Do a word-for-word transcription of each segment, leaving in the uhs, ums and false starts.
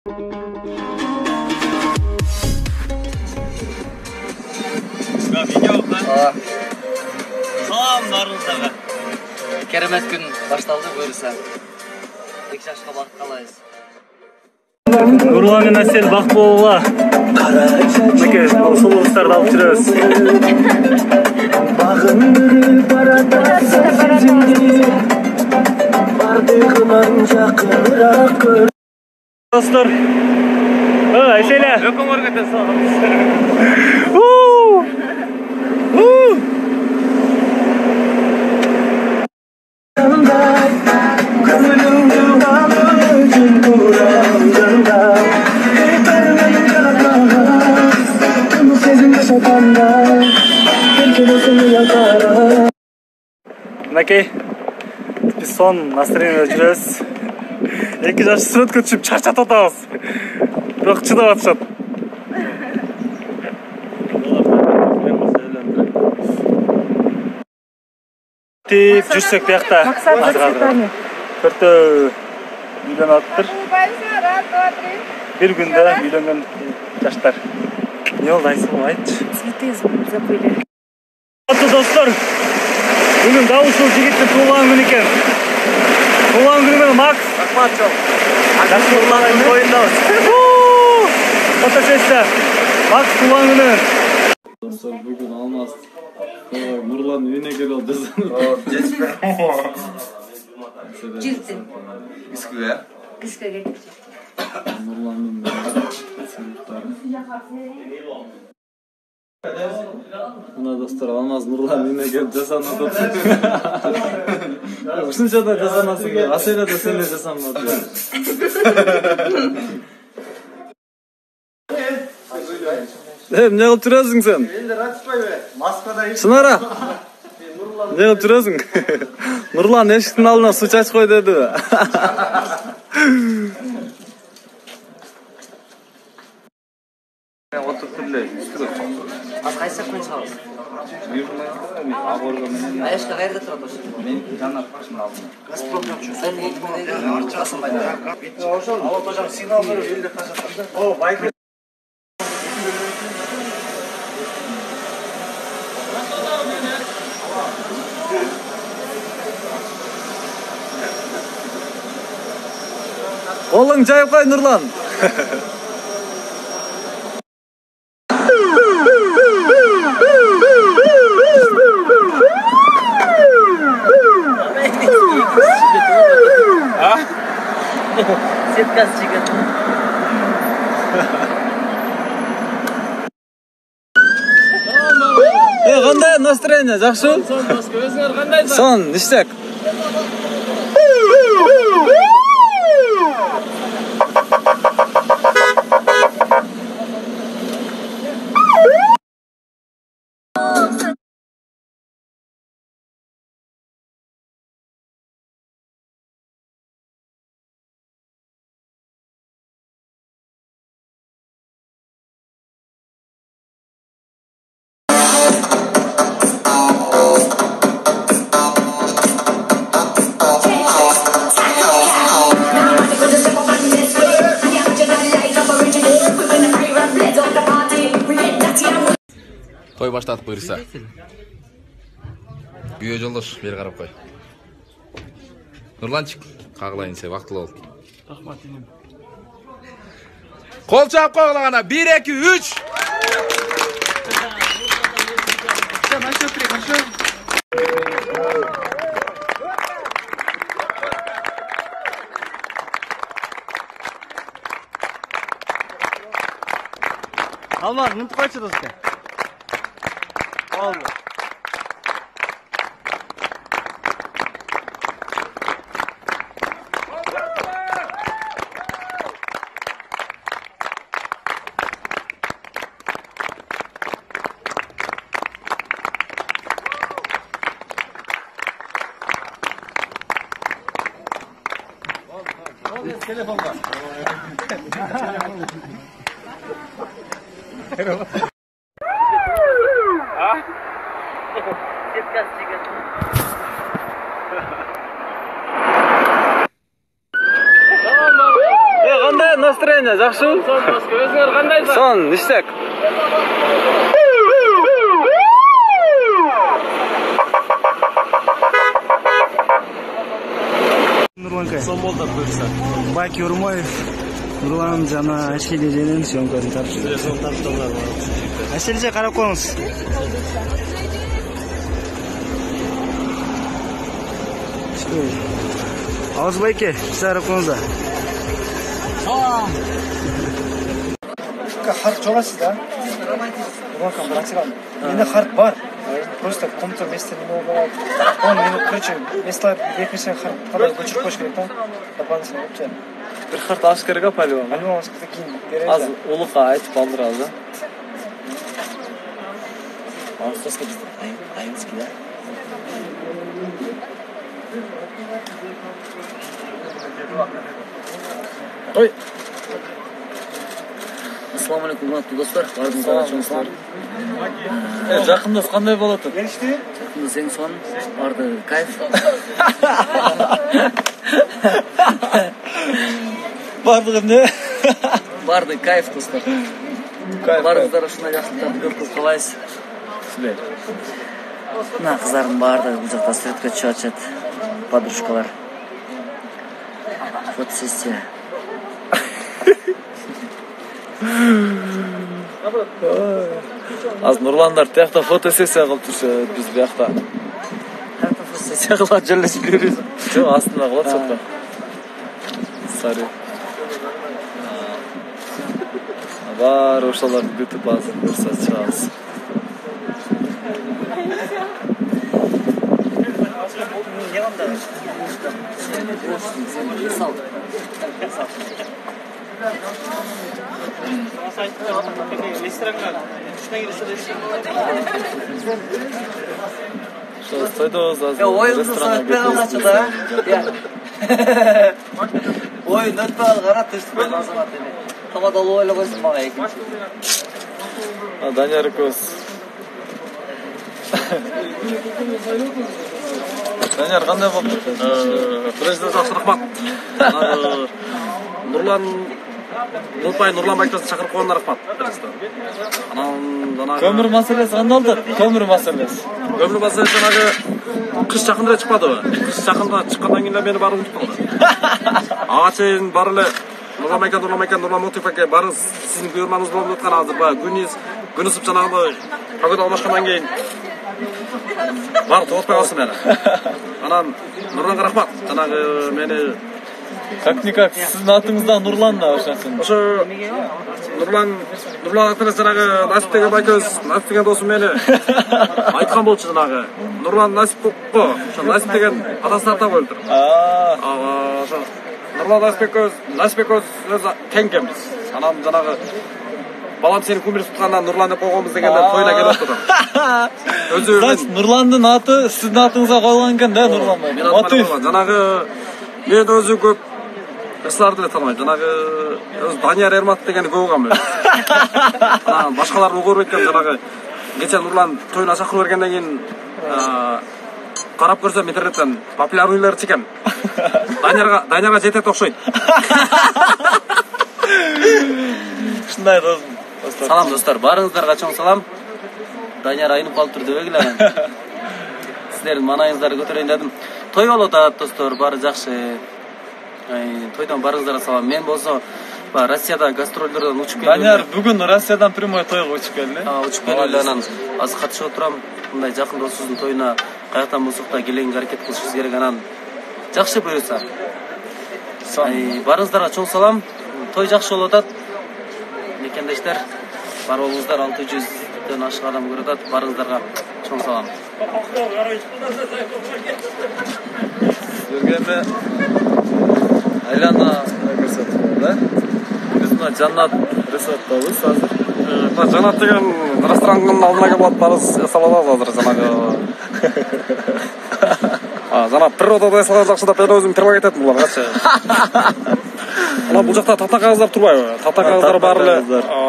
Видео бар. Салам баарыңыздарга. Керемет күн башталды буюрса. эки жашка бакыт каалайбыз. Нурлан менен Асел бак болула. Мынакей сулуулуктарды алып жүрөбүз. Багындырып баратасың. Бардыгынан жакыныраак көр. Достор. Ой, Айселя. Өкөңөр кетесиз. Уу! Уу! Мынакей, биз сон настроениеде жүрөбүз. эки жаш сүрөткө түшүп чарчатып атабыз. Бирок чыдап атышат. Тип жүрсөк биякта. Төртөө үйлөнүп атыптыр. Бир күндө үйлөнгөн жаштар. Не болду Айсыл, айтчы. Цветы забыли. Достор, бүгүн дал ушул жигиттин туулган күнү экен. Туулган күнү менен Макс Акматжол. Нурландын тоюндабыз. Фотосессия. Макс туулган күнү. Достор, бүгүн Алмаз Нурлан үйүнө келип жазды. Жилти. Искиге. Искиге кетти. Нурландын сыймыктары. Мына достор, Алмаз Нурлан үйүнө келип жасанып атат. Ушунча да жасанасың. Аселя да сен эле жасанып атат. Э, эмне кылып жүрөсүң сен? Элдер ачпайбы? Маскада Сынара. Не кылып жүрөсүң? Нурлан эшиктин алдына суу чачып кой деди. отуруп эле үстүгө. Az кайсы күн чыгабыз? Аборго менен. Аяшка каерде турат ошо? Мен жана башымын алдым. Газпром сен эки күндөн чыгасың байда. Ошол алып тожам сигнал берип элде качат. О, байк. Колуң жайып кой, Нурлан. Сеткасы чыгат. Э, кандай настроение, жакшы? Сон баска өзүңөр кандай? Сон, иштек. Той баштадык буюрса. Күйөө жолдош, бери карап кой. Нурланчик, кагылайын се, вактылуу бол. Рахмат инем. Кол чаап койгула гана. бир эки үч. Алмаз, мынтип койчу достор. Oldu. Telefon var. Сеткасы чыгат. Э, кандай настроение? Даня, жакшыбы? Өзүңөр кандайсыңар? Сон, иштек. Нурланка. Сон болду буюрса. Баки Урмоев, Нурлан жана Айшели женен съемкасын тартты. Сон тарттылар. Айшелже карап коюңуз. Ауыз байке, сарып коңузда. Харт жоласыз да? Нурланка, брат сирам. Менде харт бар. Просто в каком-то месте не могу бывать. Он, ну, короче, место верхнейший харт, когда көчүрүп коюш керек да? Дополнительно, вообще. Бир харт алыш керек а, по-любому. Альбом алышкы кийин беребиз. Аз улукка айтып алдырабыз, да? Маңызсыз біз айымызки да. Ой. Ассаламу алейкум, урматтуу достор. Баарыңыздарга чоң салам. Э, жакындас кандай болот? Келишти? Жакында сең сон, барды кайф. Бардыгы эмне? Барды кайф достор. Баарыңыздар ушундай жакшылыктарды көп көп каалайбыз. Силер. Мына кыздардын баардыгы бул жакта суретке чыгып атышат. Подружкалар. Фотосессия. Аз Нурландар тиякта фотосессия кылып турчу, биз биякта. Карта фотосессия кылып жерлешип жүрөбүз. Жок, астында кылат чокто. Сари. Бар ошолорду күтүп азыр көрсө чыгабыз. Что, стойдобуз азыр. Оюнду саатпай калачы да. Оюн өтпөй калды, кара түштү азамат эми. Табадалуу ойлой койсун мага экинчи. А Данияр экөөбүз. Данияр кандай болду? Президент жакшы рахмат. Нурлан Нурпай Нурлан Байкасын чакырып койгонуна рахмат. Анан жанагы Көмүр маселеси кандай болду? Көмүр маселеси. Көмүр маселеси жанагы кыш жакында чыкпадыбы? Кыш жакында чыккандан кийин мени баары унутуп калды. Ага чейин баары эле Нурлан Байка, Нурлан Байка, Нурлан Мотив аке баары сиздин көрмаңыз болуп аткан азыр баягы күнүз күн ысып жанагы погода алмашкандан кийин баары токтопой калсын мени. Анан Нурланга рахмат. Жанагы мени Как-никак сиздин атыңызда Нурлан да ошосын. Ошо Нурлан Нурлан атынан жанагы Насип деген байкебиз, Насип деген досум мени айткан болчу жанагы. Нурлан Насип го. Ошо Насип деген атасына ата коюлуптур. Аа. Ошо Нурлан Насипбеков, Насипбеков өзү теңкемиз. Анан жанагы балам сени кумир туткандан Нурлан деп койгонбуз дегенде тойуна келип атты. Өзү Значит, Нурландын аты сиздин атыңызга коюлган экен да, Нурлан бай. Мотив. Жанагы мен өзү көп эсларды эле тааныбайм. Жанагы өзү Данияр Эрматов дегенди көп угам мен. Анан башкаларды угуруп эткем жанагы кече Нурлан тоюна чакырып бергенден кийин карап көрсөм интернеттен популярныйлар чекен. Даниярга Даниярга жетет окшойт. Ушундай досум. Салам достор, баарыңыздарга чоң салам. Данияр айнып калыптыр дебегиле анан. Сиздердин маанайыңыздарды көтөрөйүн дедим. Той болуп атат достор, баары жакшы. Тойдон баарыңыздарга салам. Мен болсо баягы Россияда гастролдордон учуп келдим. Данияр бүгүн Россиядан прямой тойго учуп келди. А, учуп келди анан азыр катышып отурам. Мындай жакын досубуздун тоюна каяктан болсок да келеңге аракет кылышыбыз керек анан. Жакшы буюрса. Баарыңыздарга чоң салам. Той жакшы болуп атат. Мекендештер, бар болуңуздар, алты жүздөн ашык адам көрүп атат. Баарыңыздарга чоң салам. Силерге эми айлана көрсөтүп да. Биз мына Жаннат ресторандабыз азыр. Мына Жаннат деген ресторанның алдына келип атпарыз эсалабыз азыр жанагы. А, жана природада эсалган жакшы деп мен өзүм предлагать этем буларгачы. Анан бул жакта тата кагаздар турбайбы? Тата кагаздар бар эле.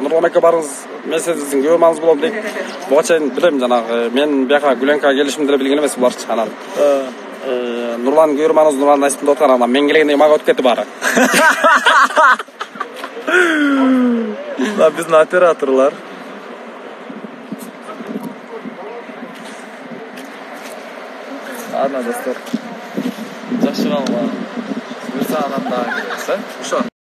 Нурлан ака барыңыз, мен сиздин көрмөңүз болом дейт. Буга чейин билем жанагы мен бияка Гүленка келишимди деле билген эмес буларчы анан. Нурлан көрмөңүз, Нурлан Насиптин деп аткан анан мен келгенде мага өтүп кетти баары. Мына биздин операторлор. Ладно, достор. Жакшы калгыла. Буюрса анан дагы келебиз, э? Ошо.